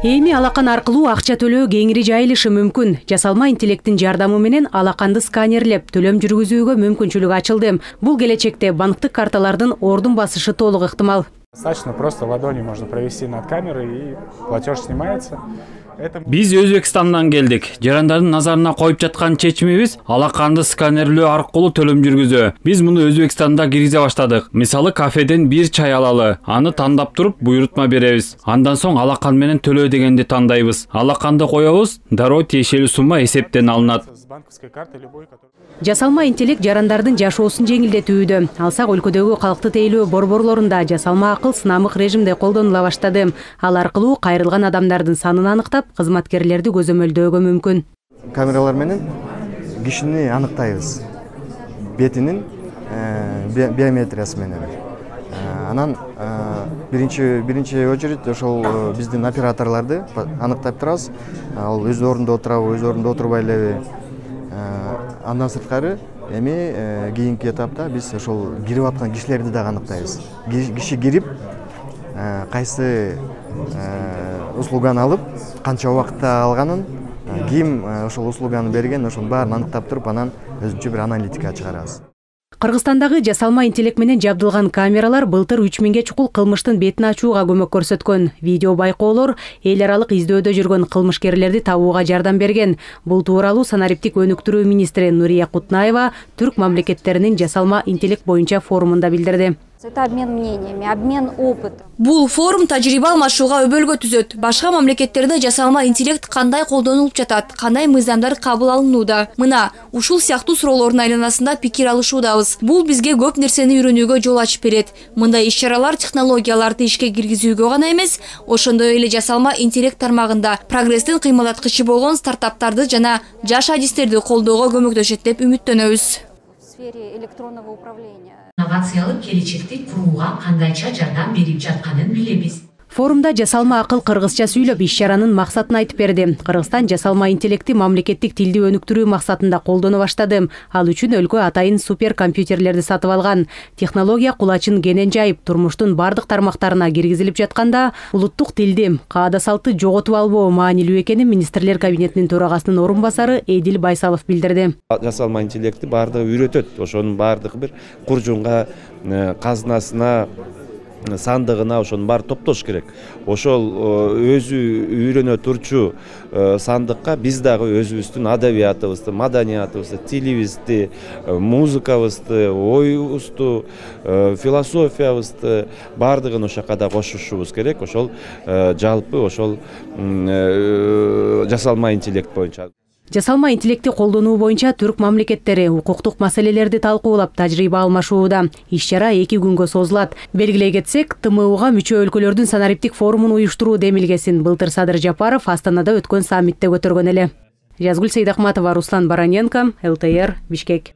Эми алакан аркылуу акча төлөө кеңири жайылышы мүмкүн. Жасалма интеллекттин жардамы менен алаканды сканерлеп төлөм жүргүзүүгө мүмкүнчүлүк ачылды. Бул келечекте банктык карталардын ордун басышы толук ыктымал. Достаточно просто ладонью можно провести над камерой и платеж снимается. Биз Өзбекстандан келдик. Жарандардын назарына коюп жаткан чечимибиз алаканды сканерлөө аркылуу төлөм жүргүзүү. Биз муну Өзбекстанда киргизе баштадык. Мисалы кафеден бир чай алалы, аны тандап туруп буйрутма беребиз. Андан соң алакан менен төлөө дегенди тандайбыз. Алаканды коебуз, дароо тиешелүү сумма эсептен алынат. Жасалма интеллект жарандардын жашоосун жеңилдетүүдө. Алсак өлкөдөгү калкты тейлөө борборлорунда жасалма акыл сынамык режимде колдонула баштады. Ал аркылуу кайрылган адамдардын санын аныктап, кызматкерлерди көзөмөлдөөгө мүмкүн. Камералар менен кишини аныктайбыз. Бетинин биометриясы менен. Анан биринчи очередь ошол биздин операторлорду аныктап турабыз. Ал өз ордунда отурабы, өз ордунда отурбай элеби. Андан сырткары эми кийинки этапта биз ошол кирип аткан кишилерди дагы аныктайбыз. Киши кирип кайсы услуганы алып, канча убакытта алганын, ким ошол услуганы берген, ошонун баарын аныктап туруп, анан өзүнчө бир аналитика чыгарабыз. Кыргызстандагы жасалма интеллект менен жабдылган камералар былтыр 3000ге чукул кылмыштын бетин ачууга көмөк көрсөткөн. Видео байкоолор эл аралык издөөдө жүргөн кылмышкерлерди табууга жардам берген. Бул тууралуу санариптик өнүктүрүү министри Нурия Кутнаева түрк мамлекеттеринин жасалма интеллект боюнча форумунда билдирди. Это обмен мнениями, обмен опытом. Бул форум тажрыйба алмашууга өбөлгө түзөт. Башка мамлекеттерде жасалма интеллект кандай колдонулуп жатат, кандай мыйзамдар кабыл алынууда. Мына, ушул сыяктуу суроолордун айланасында пикир алышуудабыз. Бул бизге көп нерсени үйрөнүүгө жол ачып берет. Мындай иш-чаралар технологияларды ишке киргизүүгө гана эмес, ошондой эле жасалма интеллект тармагында прогресстин кыймылдаткычы болгон стартаптарды жана жаш адистерди колдоого көмөктөшөт деп үмүттөнөбүз. В сфере электронного управления. Инновациялык келечекти курууга кандайча жардам берип жатканын билебиз. Форумда жасалма акыл кыргызча сүйлөп иш-чаранын максатын айтып берди. Кыргызстан жасалма интеллекти мамлекеттик тилди өнүктүрүү максатында колдоно баштады. Ал үчүн өлкө атайын суперкомпьютерлерди сатып алган. Технология кулачын кенен жайып, турмуштун бардык тармактарына киргизилип жатканда, улуттук тилди, каада салтты жоготуп албоо маанилүү экенин министрлер кабинетинин төрагасынын орун басары Эдил Байсалов билдирди. Жасалма интеллекти бардыгы үйрөтөт. Ошонун бардыгы бир куржунга, казынасына, сандыгына ошонун баары топтош керек. Ошол өзү үйрөнө турчу сандыкка биз дагы өзүбүздүн адабиятыбызды, маданиятыбызды, тилибизди, музыкабызды, оюбузду, философиябызды бардыгын ошол жака да кошушубуз керек. Ошол жалпы ошол жасалма интеллект боюнча. Жасалма интеллекти колдонуу боюнча түрк мамлекеттери укуктук маселелерди талкуулап тажрыйба алмашууда. Иш-чара 2 күнгө созулат. Белгилей кетсек, ТМУга мүчө өлкөлөрдүн санариптик форумун уюштуруу демилгесин былтыр Садыр Жапаров Астанада өткөн саммитте көтөргөн эле. Жазгүл Сейдахматова, Руслан Бараненко, ЛТР, Бишкек.